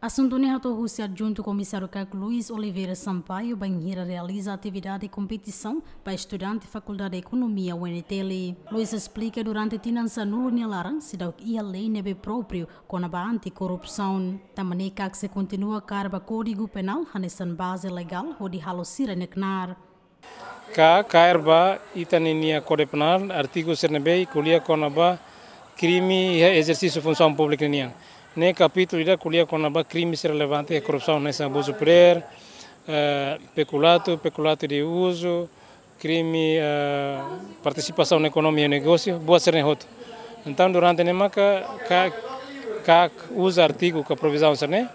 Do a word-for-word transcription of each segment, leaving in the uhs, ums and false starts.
Asuntu ne'e hato'o husi Adjuntu Komisáriu KAK Luis Oliveira Sampaio bainhira realiza atividade kompetisaun ba estudante Fakuldade Ekonomia U N T L. Luis esplika durante tinan sanulu nia laran seidauk iha lei ne'ebé própriu kona-ba anti-korrupsaun. Tanba ne'e KAK sei kontinua kaer ba Kódigu Penál hanesan baze legál hodi halo sira-nia knaar. KAK kaer ba ita ninia Kódigu Penál, artigu sira ne'ebé ko'alia kona-ba krime iha ezersísiu funsaun públika nian. Ne'e kapítulu ida ko'alia kona-ba krime sira relevante iha korrupsaun, hanesan abuzu podér, eh, pekulatu, pekulatu de uzu, krime, eh, partisipasaun ekonomia negósiu, buat sira-ne'e hotu. Entaun, durante ne'e maka KAK, KAK uza artigu ka provizaun sira-ne'e,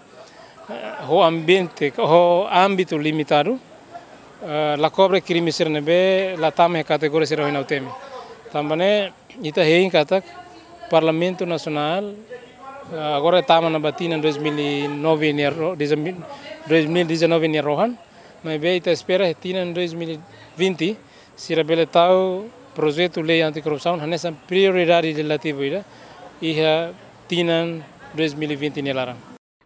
eh, ho ambiente, ho ámbitu limitadu, eh, la kobre krime sira ne'ebé la tama iha kategoria sira ohin ha'u temi. Tanba ne'e, ita hein katak Parlamentu Nasionál, eh, agora tama ona ba tinan dois mil e nove nia ro-, dezanove, dois mil e dezanove nia rohan, maibé ita espera tinan dois mil e vinte sira bele tau projetu lei anti-korrupsaun hanesan prioridade lejislativa ida iha tinan dois mil e vinte nia laran.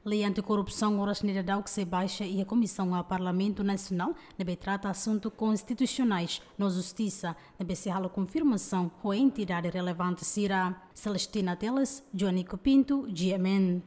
Lei anti-korrupsaun oras ne'e daudaun sei baixa iha Komisaun A Parlamentu Nasionál ne'ebé trata asuntu konstitusionais no justisa, ne'ebé sei halo konfirmasaun ho entidade relevante sira. Celestina Teles, Joanico Pinto, G M N.